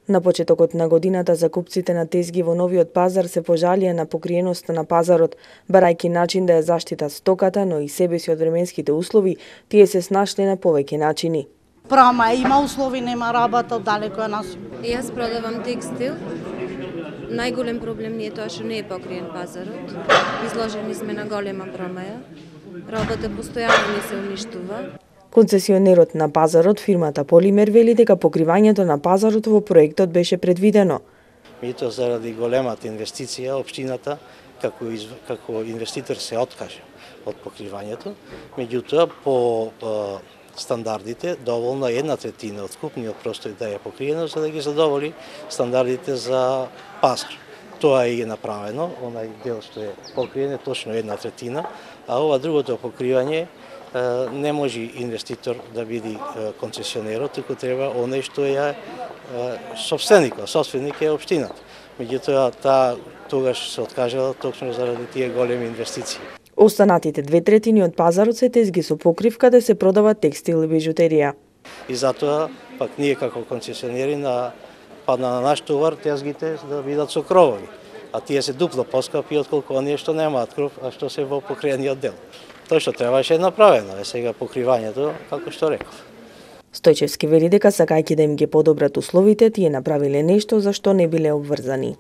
На почетокот на годината закупците на тезги во Новиот Пазар се пожалија на покриеноста на пазарот, барајќи начин да ја заштитат стоката, но и себе си од временските услови, тие се снашле на повеќе начини. Прама има услови, нема работа, далеко е нас. Јас продавам текстил. Најголем проблем ни е тоа што не е покриен пазарот. Изложени сме на голема промаја. Работа постојано ни се уништува. Концесионерот на пазарот, фирмата Полимер, вели дека покривањето на пазарот во проектот беше предвидено. Меѓутоа, заради големата инвестиција, општината како инвеститор се откаже од покривањето. Меѓутоа, по стандардите, доволно 1/3 од купниот простор да е покриено, за да ги задоволи стандардите за пазар. Тоа е направено, онај дел што е покриен е точно 1/3, а ова другото покривање не може инвеститор да биде концесионерот, туку треба оној што е собственик е општината. Меѓутоа, тогаш се откажала точно заради тие големи инвестиции. Останатите 2/3 од пазарот се тезги со покривка да се продава текстил и бижутерија. И затоа, пак ние како концесионери падна на наш товар тезгите да бидат со кровови, а тие се дупло поскапи отколку оние што немаат кров, а што се во покриениот дел. Тоа што требаше е направено, е сега покривањето, како што реков. Стојчевски вели дека сакајќи да им ги подобрат условите, тие направиле нешто за што не биле обврзани.